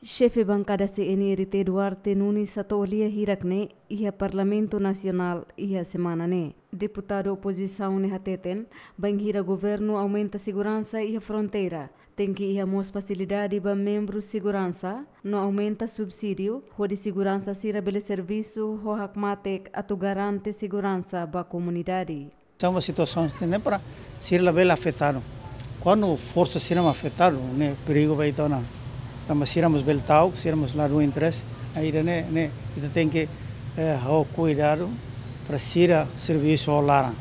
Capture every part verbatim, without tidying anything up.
Xefe Bankada C N R T Duarte Nunes hato'o lia hirak ne'e iha Parlamentu Nasionál iha semana ne'e. Deputadu opozisaun ne'e hateten, bainhira governu aumenta seguransa iha fronteira, tenke iha mós fasilidade ba membru seguransa, no aumenta subsídiu, hodi seguransa sira bele servisu ho hakmatek atu garante seguransa ba komunidade. Tanba situasaun ne'e para sira labele afetadu. Kuandu forsa sira mak afetadu, ne'e perigu ba ita ona. Tanba sira mós bele ta'uk, sira mós ladún interese. Ida-ne'e, ne'e ita tenke, eh, ho kuidadu para sira servisu ho laran.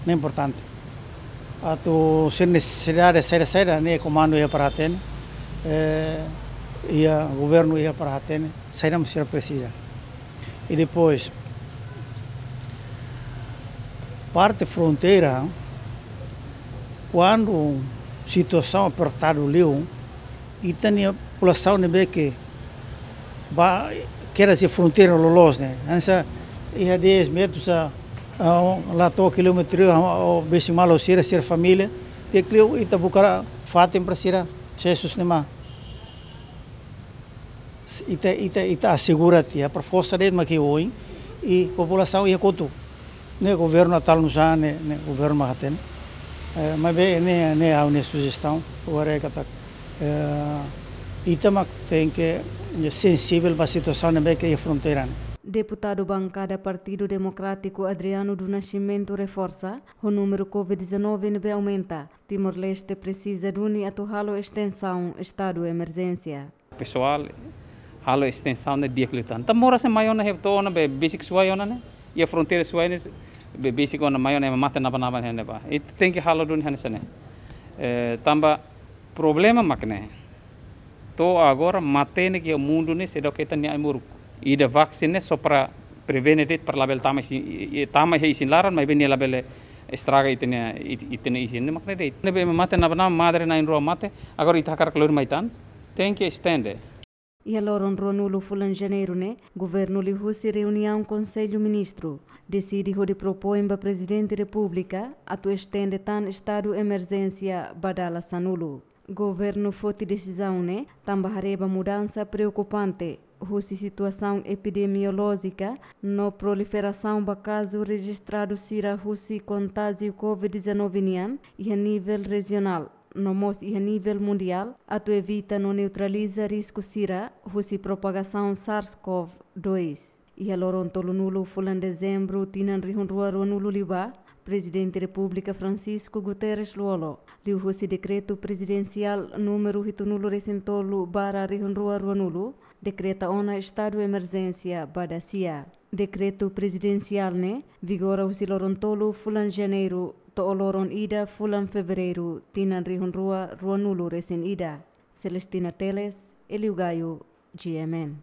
Ne'e importante. Atu sira nesesidade saida-saida, ne'e komandu iha para hatene, eh, iha governu iha para hatene, saida mak sira presiza. I depois, parte fronteira, kuandu situasaun apertadu liu, ita-nia populasaun ne'ebé ke ba, kera se fronteira loloos ne'e. Hanesan iha dez metru sa, ah, la to'o kilómetru, ah, o besi malo sira, sira família, te kliu ita buka fatin para sira, sesus nema. Ita, ita, ita asegura tiha para forsa de'it mak oin, i populasaun iha kotuk. Ne'e governu atu halo nusá, ne'e, ne'e governu mak hatene. Eh, maibé ne'e, ne'e ha'u-nia sujestaun, agora é katak, eh, ita mak tenke, eh, sensivel ba situasaun ne'ebé ke iha fronteira ne'e. Deputadu Bankada Partidu Demokrátiku Adriano do Nascimento reforsa, ho númeru COVID dezanove ne'ebé aumenta, Timor-Leste presiza duni atu halo estensaun estadu emerjénsia. Pesoál, halo estensaun ne'e di'ak liután. Tanba moras ne'e mai ona, hepto ona be besik suai ona ne'e. Iha fronteira suai ne'e be besik ona mai ona, ema mate naba-naba ne'e ba. Ita tenke halo duni hanesan ne'e. Eh, tanba problema mak ne'e. To'o agora mate ne'e iha mundu ne'e seidauk hetan nia ai-moruk. Ida vaksin ne'e só para prevene de'it para labele tama isin, i, i, tama iha isin laran, maibé nia labele estraga ita-nia, it-, ita-nia isin ne'e mak ne'e de'it. Ne'ebé ema mate naba-naba, madre na'in-rua mate, agora ita hakarak lori mai tan, tenke estende. Iha loron ruanulu fulan Janeiru ne'e, governu liuhusi reuniaun Konsellu Ministru deside hodi propoin ba Prezidente Repúblika atu estende tan estadu emerjénsia ba dala sanulu. Governu foti desizaun ne'e tanba haree ba mudansa preokupante husi situasaun epidemiolójika no proliferasaun ba kazu rejistradu sira husi kontájiu COVID dezanove nian iha nivel rejionál no mós iha nivel mundiál, atu evita no neutraliza risku sira husi propagasaun SARS-CoV dois. Iha loron tolunulu fulan Dezembru tinan rihun rua ruanulu liubá, Prezidente Repúblika Francisco Guterres Lú-Olo, liuhusi Dekretu Prezidensiál númeru hitunulu resin tolu barra rihun rua ruanulu, dekreta ona estadu emerjénsia ba dasia. Dekretu prezidensiál ne'e vigora husi loron tolu fulan Janeiru to'o loron ida fulan Fevereiru tinan rihun rua ruanulu resin ida. Celestina Teles, Elio Gaio, G M N.